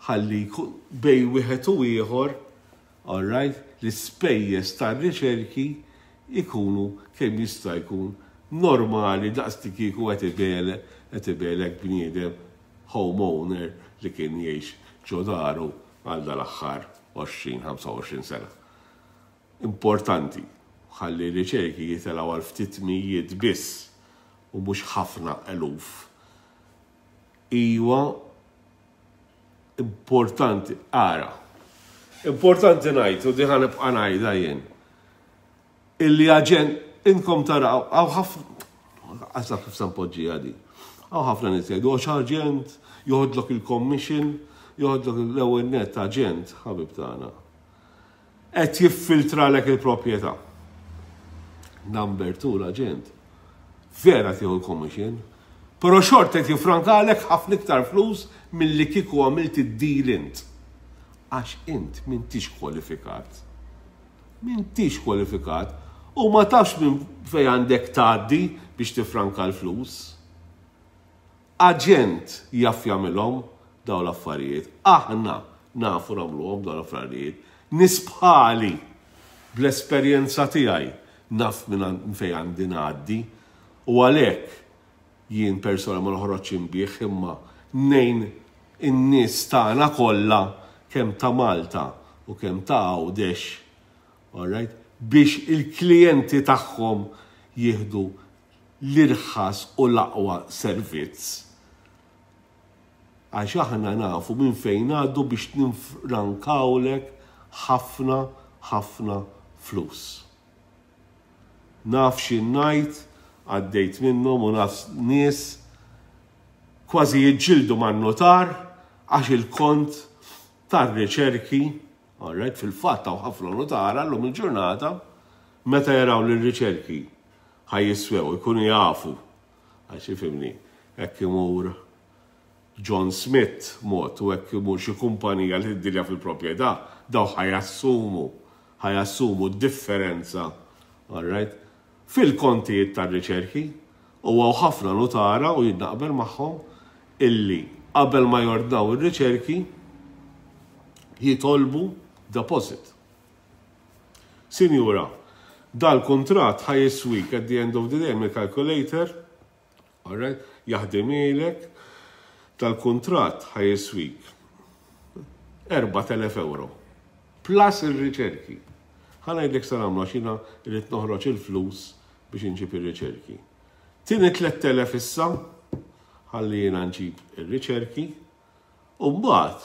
ħalli bejn wieħed u ieħor, all right, l-ispejjeż tar-riċerki ikunu kemm jista' jkun normali, daqs kieku qed qed ibigħlek bniedem homeowner li kien jgħix ġo daru għal dal-aħħar għoxrin ħamsa u għoxrin sena. Importanti, ħalli riċerki jitilgħu għal ftit mijiet biss u mhux ħafna eluf. Iwa, importanti, ara, importanti ngħid, u din ħa nibqa' ngħidha jien, illi aġent, inkom taraw, hawn ħafna, għasa kif sa npoġġi għadi, hawn ħafna nies jgħidu, "Għax aġent, joħodlok il-commission, joħodlok." L-ewwel net, aġent, ħabib tagħna, qed jiffiltralek il-proprjetà. Number two, l-aġent vera tieħu l-commission, però xorta qed jifrankalek ħafna iktar flus milli kieku għamilt id-deal int. Għax int m'intix kwalifikat. M'intix kwalifikat u ma tafx minn fej għandek tgħaddi biex tifranka l-flus. Aġent jaf jagħmilhom daw l-affarijiet. Aħna nafu nagħmluhom daw l-affarijiet. Nies bħali, bl-esperjenza tiegħi, naf minn fej għandi ngħaddi u għalhekk jien persona ma noħroġ inbigħ, imma ngħin in-nies tagħna kollha, kemm ta' Malta u kemm ta' Għawdex, alright, biex il-klijenti tagħhom jieħdu l-irħas u l-aqwa servizz. Għax aħna nafu minn fejn ngħaddu biex ninfrankawlek ħafna ħafna flus. Naf xi ngħid, għaddejt minnhom u naf nies kważi jiġġieldu man-notar għax il-kont tar-riċerki, alright, fil-fatt hawn ħafna notara llum il-ġurnata, meta jaraw li r-riċerki ħa jiswew, ikunu jafu, għax ifhimni, hekk imur John Smith mod u hekk imur xi kumpanija li tiddilja fil-proprjetà, daw ħa jassumu, ħa jassumu differenza, alright, fil-kontijiet tar-riċerki. U hawn ħafna notara, u jien naqbel magħhom, illi qabel ma jordnaw ir-riċerki jitolbu deposit. "Sinjura, dal-kontrat ħa jiswik at the end of the day," mill-calculator, alright, jaħdimilek, "dal-kontrat ħa jiswik erbat elef euro. Plus il-riċerki. Ħa ngħidlek sa nagħmlu, għax jiena rrid noħroġ il-flus biex inġib ir-riċerki. Tini tlett elef issa, ħalli jiena nġib ir-riċerki, u mbagħad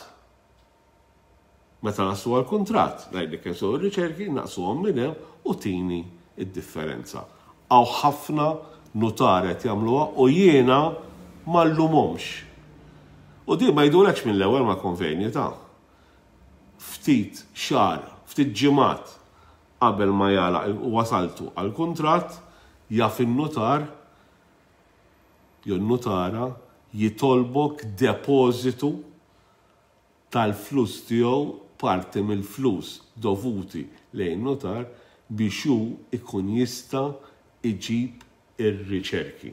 meta naslu għal-kontrat, ngħidlek kemm sew ir-riċerki, naqsuhom minn hemm u tini id-differenza." Hawn ħafna Nutar qed jagħmluha u jiena ma llumhomx. U di ma jgħidulekx mill-ewwel ma' konvenju ta' ftit xahar, ftit ġimgħat qabel ma jagħlaq u wasaltu għal-kuntratt, jaf in-nutar jew nutara jitolbok depożitu tal-flus tiegħu, parti mill-flus dovuti lejn notar biex hu ikun jista' iġib ir-riċerki.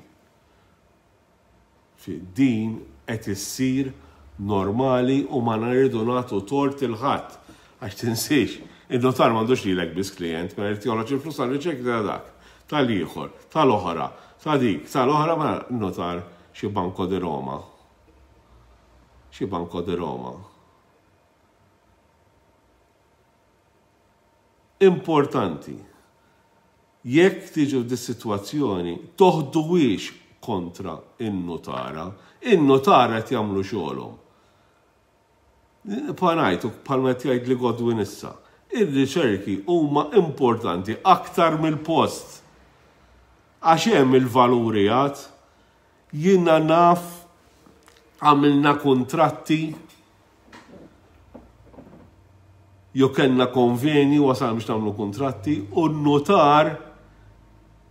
Fi din qed issir normali u ma nridu nagħtu tort lil ħadd, għax tinsiex, in-notar m'għandux lilek biss klient, ma jrid joħroġ il-flus għal-riċerki ta' dak, tal-ieħor, tal-oħra, ta' dik, tal-oħra, ma notar xi Banco di Roma. Xi Banco di Roma. Importanti, jekk tiġu f'dis-sitwazzjoni, toħduwiex kontra in-nutara. In-nutara qed jagħmlu xogħolhom. Panajtu, bħalma qed jgħid li Godwin issa, ir-riċerki huma importanti aktar mill-post. Għax hemm il-valuri għad, jiena naf għamilna kontratti jew kellna konveni wasal biex nagħmlu kontratti u n-notar,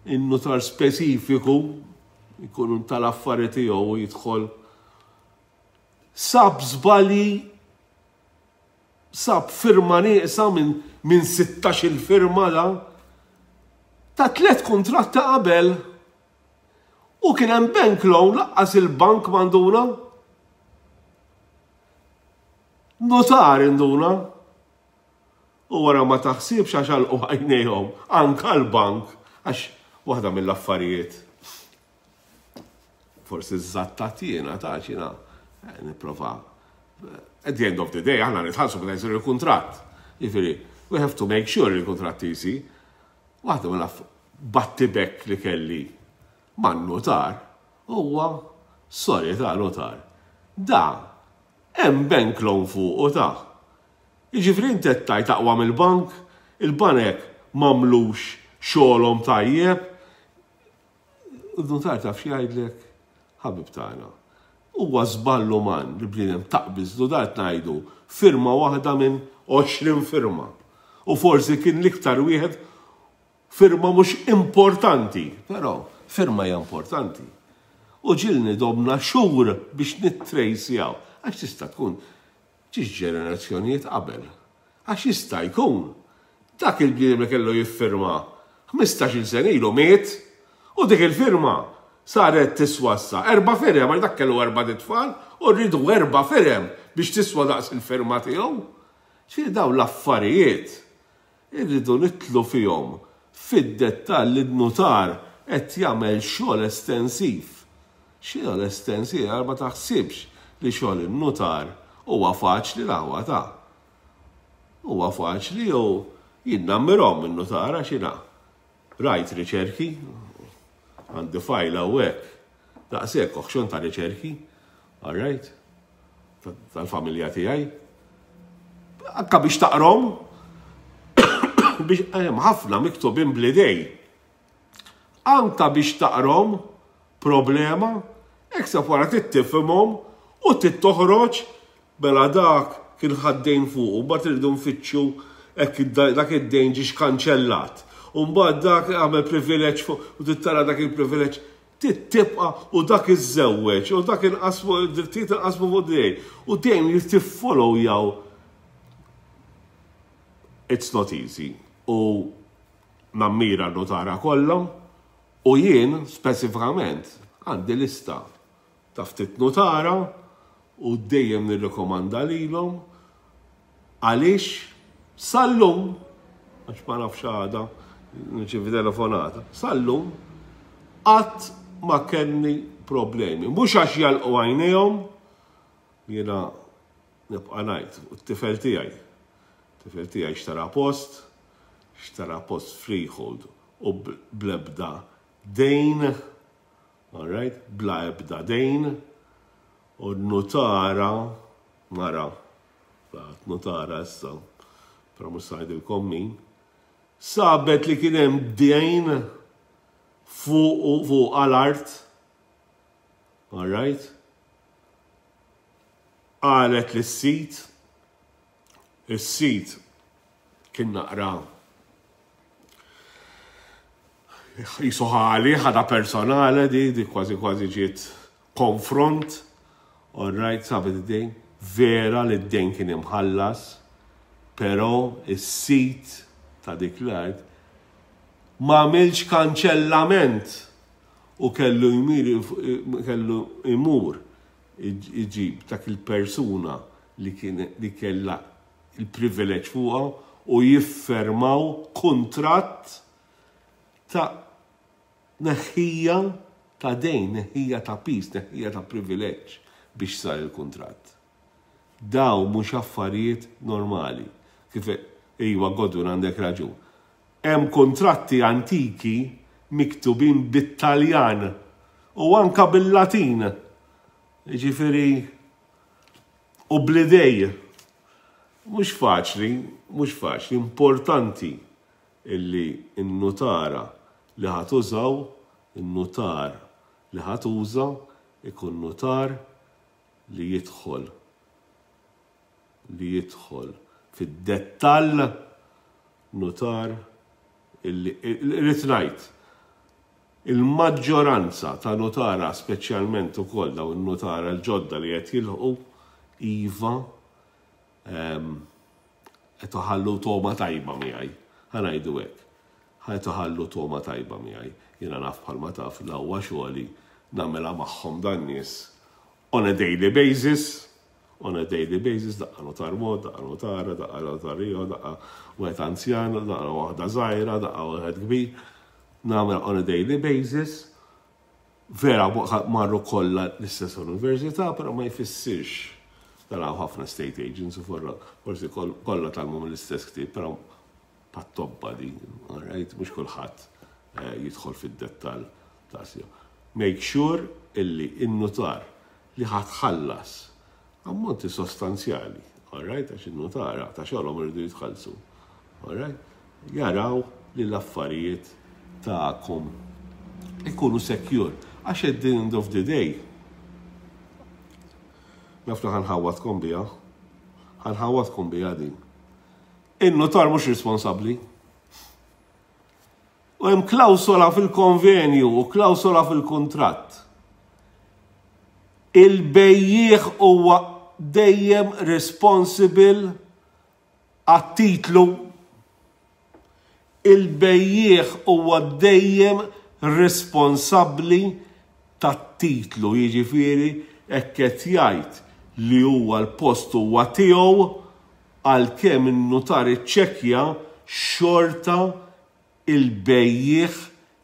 in-notar speċifiku jkun tal-affari tiegħu u jidħol sab żbalji, sab firma nieqsa minn min sittax-il firma da ta' tliet kuntratti qabel u kien hemm bank loan laqqas il-bank m'għanduna. Notar induna. U wara ma taħsibx għax għalqu għajnejhom anka l-bank, għax waħda mill-affarijiet forsi żattat jiena ta' xina nipprova. At the end of the day aħna nitħallsu meta jsir il-kuntratt. Jiġifieri, we have to make sure il-kuntratt jsir. Waħda mill-battibek li kelli man-notar huwa sorry ta' notar. Da hemm bank loan fuq u ta'. Jiġifieri inti qed tgħid aqwa mill-bank, il-banek m'għamlux xogħolhom tajjeb. Il-notar taf xi jgħidlek, ħabib tagħna. Huwa żball uman li bniedem taqbiżlu dar ngħidu firma waħda minn għoxrin firma. U forsi kien l-iktar wieħed firma mhux importanti, però firma hija importanti. U ġilni domna xhur biex nittrejsjaw, għax tista' tkun ġiex ġenerazzjonijiet qabel. Għax jista' jkun dak il-bniedem li kellu jiffirma ħmistax-il sena ilu miet u dik il-firma saret tiswa issa erba' firem, għax dak kellu erba' tfal u rridu erba' firem biex tiswa daqs il-firma tiegħu. Ġifieri dawn l-affarijiet irridu nitlu fihom fid-dettall li n-notar qed jagħmel xogħol estensiv. Xogħol estensiv, għal ma taħsibx li xogħol in-notar huwa faċli l-aħwa ta'. Huwa faċli u jien nammirhom in-notar għax jiena rajt riċerki, għandi fajl hawnhekk daqshekk oħxon ta' riċerki, all right, tal-familja tiegħi. Anka biex taqrom, biex hemm ħafna miktubin bl-idej. Anka biex taqrom problema, ekseb wara tittifhimhom u tittoħroġ mela dak kien ħaddejn fuq, u mbagħad irridu nfittxu hekk dak id-dejn ġiex kanċellat. U mbagħad dak għamel privileġġ fuq u tittara dak il-privileġġ tibqa' u dak iżżewweġ u dak inqasmu id-drittijiet inqasmu fuq dejn. U dejjem li tiffollow jaw. It's not easy. U nammira n-notara kollha u jien speċifikament għandi lista ta' ftit notara u dejjem nirrekomanda lilhom għaliex sal-lum, għax ma nafx għada nirċievi telefonata, sal-lum qatt ma kelli problemi. Mhux għax jalqu għajnejhom, jiena nibqa' ngħid, u t-tifel tiegħi. Tifel tiegħi xtara post, xtara post freehold u bl-ebda dejn, all right, bla ebda dejn, u notara, mara, notara issa, però mhux se ngħidilkom min, sabet li kien hemm dejn fuq fuq għal-art. All right? Qalet lis-sid, is-sid kien naqra jisu ħali, ħada personali di, di kważi kważi ġiet konfront, all right, sabet id-dejn, vera li d-dejn kien imħallas, però is-sid ta' dik l-art ma għamilx kanċellament u kellu jmir kellu imur iġib dak il-persuna li kien li kellha il-privileġġ fuqha u jiffermaw kuntratt ta' neħħija ta' dejn, neħħija ta' piż, neħħija ta' privileġġ biex sar il-kuntratt. Daw mhux affarijiet normali. Kif iwa Godwin għandek raġun. Hemm kontratti antiki miktubin bit-Taljan u anka bil-Latin. Ġifieri u bl-idej. Mhux faċli, mhux faċli, importanti illi n-nutara li ħa tużaw, in-nutar li ħa tuża ikun nutar li jidħol li jidħol fid-dettall, nutar illi irrid ngħid il-maġġoranza ta' nutara, speċjalment ukoll dawn in-nutara l-ġodda li qed jilħqu, iva qed iħallu togħma tajba miegħi. Ħa ngħidu hekk. Qed iħallu togħma tajba miegħi. Jiena naf bħalma taf l-aqwa xogħli nagħmilha magħhom dan nies on a daily basis, on a daily basis, daqqa notar mod, daqqa notara, daqqa notar ieħor, daqqa wieħed anzjan, daqqa waħda żgħira, daqqa wieħed kbir. Nagħmel on a daily basis. Vera marru kollha l-istess università, però ma jfissirx. Taraw ħafna estate agents u forsi kollha tgħallmu mill-istess ktieb, però pat-tobba di, alright, mhux kulħadd jidħol fid-dettall ta' sew. Make sure illi in-nutar li ħa tħallas ammonti sostanzjali, alright, għax in-nutara ta' xogħolhom iridu jitħallsu, alright, jaraw li l-affarijiet tagħkom ikunu secure. Għax at the end of the day, naf li ħa nħawwadkom biha, ħa nħawwadkom biha din. In-notar mhux responsabbli. U hemm klawsola fil-konvenju u klawsola fil-kuntratt. Il-bejjiegħ huwa dejjem responsible għat-titlu. Il-bejjiegħ huwa dejjem responsabbli tat-titlu, jiġifieri hekk qed jgħid li huwa l-post huwa tiegħu, għalkemm in-nutar iċċekkja, xorta il-bejjiegħ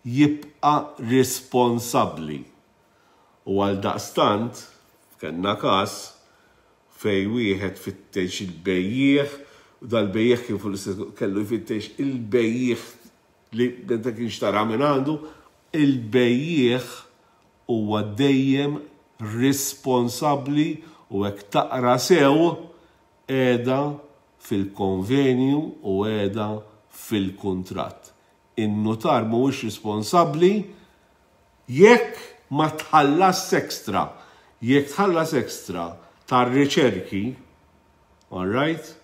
jibqa' responsabbli. U għal daqstant, kellna każ fej wieħed fittex il-bejjiegħ, u dal-bejjiegħ kien fuq l-istess kellu jfittex il-bejjiegħ li meta kien xtara minn għandu, il-bejjiegħ huwa dejjem responsabbli u hekk taqra sew qiegħda fil-konvenju u qiegħda fil-kuntratt. In-nutar mhuwiex responsabbli jekk ma tħallas ekstra. Jekk tħallas ekstra tar-riċerki, all right,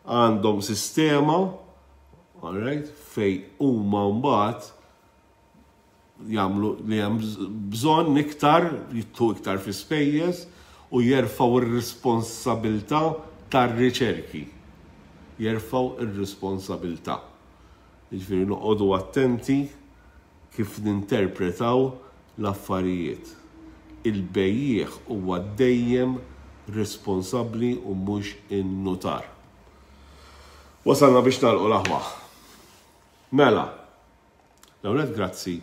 għandhom sistema, all right, fej huma mbagħad jagħmlu li hemm bżonn iktar, jittu iktar fi spejjeż u jerfgħu ir-responsabilità tar-riċerki. Jerfgħu ir-responsabilità. Jiġifieri noqogħdu attenti kif ninterpretaw l-affarijiet. Il-bejjiegħ huwa dejjem responsabbli u mhux in-nutar. Wasalna biex nagħlqu l-aħwa. Mela, l-ewwel grazzi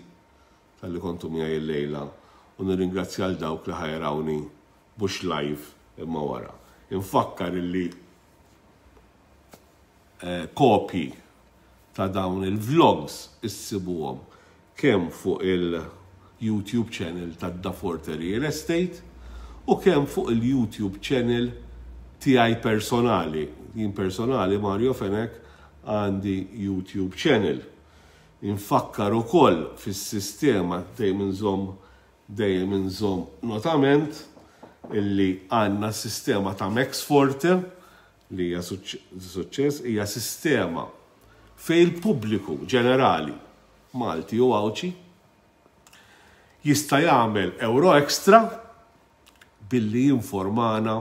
talli kontu miegħi l-lejla u nirringrazzja għal dawk li ħa jarawni mhux live imma wara. Infakkar illi eh, kopji ta' dawn il-vlogs issibuhom kemm fuq il-YouTube channel ta' Daforte Real Estate u kemm fuq il-YouTube channel tiegħi personali. Jien personali Mario Fenech għandi YouTube channel. Infakkar ukoll fis-sistema, dejjem inżomm dejjem inżomm notament illi għandna sistema ta' Max Forte li hija suċċess, hija sistema fejn il-pubbliku ġenerali Malti u Għawdxi jista' jagħmel euro extra billi jinformana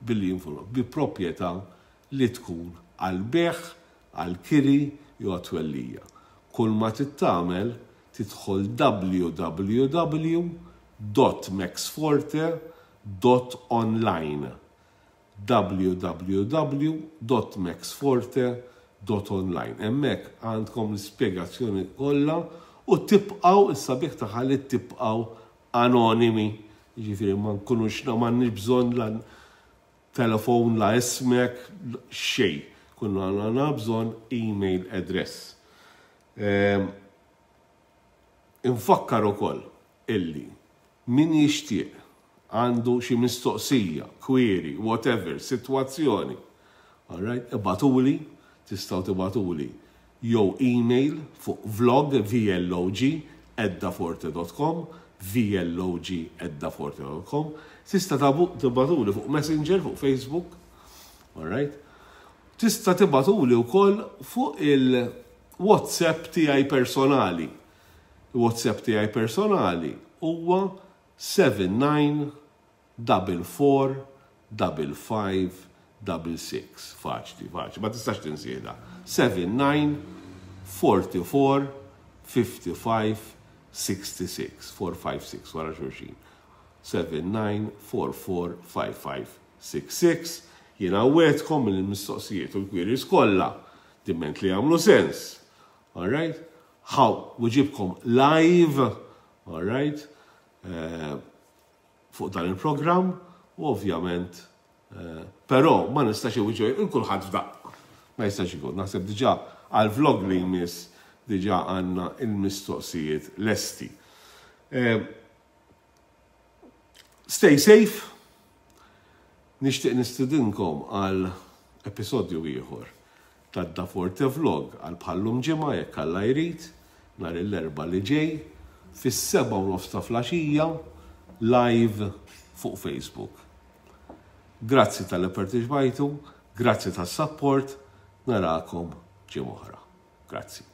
billi jinformana bi proprjetà li tkun għal bejgħ, għal kiri jew għat-twellija. Kull ma tagħmel, tidħol W W W dot maxforte dot online, W W W dot maxforte dot online. Hemmhekk għandkom l-ispjegazzjoni kollha u tibqgħu, is-sabiħ tagħha li tibqgħu anonimi. Ġifieri ma nkunux, m'għandniex bżonn la telefon, la ismek, xejn. Kull ma għandna bżonn, email address. Ehm, infakkar ukoll illi min jixtieq, għandu xi mistoqsija, query, whatever, sitwazzjoni, alright, ibagħtuli, tistgħu tibagħtuli jew email fuq vlog, vlog, eddaforte dot com, vlog eddaforte dot com, tista' tibagħtuli fuq Messenger, fuq Facebook, alright, tista' tibagħtuli wkoll fuq il-WhatsApp tiegħi personali. Il-WhatsApp tiegħi personali huwa seven nine four four five five six six. Faċli, faċli, ma tistax tinsiha. seven nine forty-four fifty-five sixty-six, four five six wara xulxin. seven nine four four five five six six. Jiena nwegħedkom mill-mistoqsijiet u l-queries kollha, diment li jagħmlu sens. Alright? Ħa nweġibkom live, alright? Uh, fuq dan il-program u ovvjament, uh, però ma nistax inwieġeb lil kulħadd f'daqqa. Ma jistax ikun. Naħseb diġà għal-vlog li jmiss diġà għandna il-mistoqsijiet lesti. Uh, stay safe. Nixtieq nistidinkom għal episodju ieħor ta' Da Forte Vlog għal bħal-lum ġimgħa, jekk Alla jrid, nhar l-Erbgħa li ġej, fis-sebgħa u nofs ta' filgħaxija, live fuq Facebook. Grazzi talli pparteċipajtu, grazzi tas-support, narakom ġimgħa oħra. Grazzi.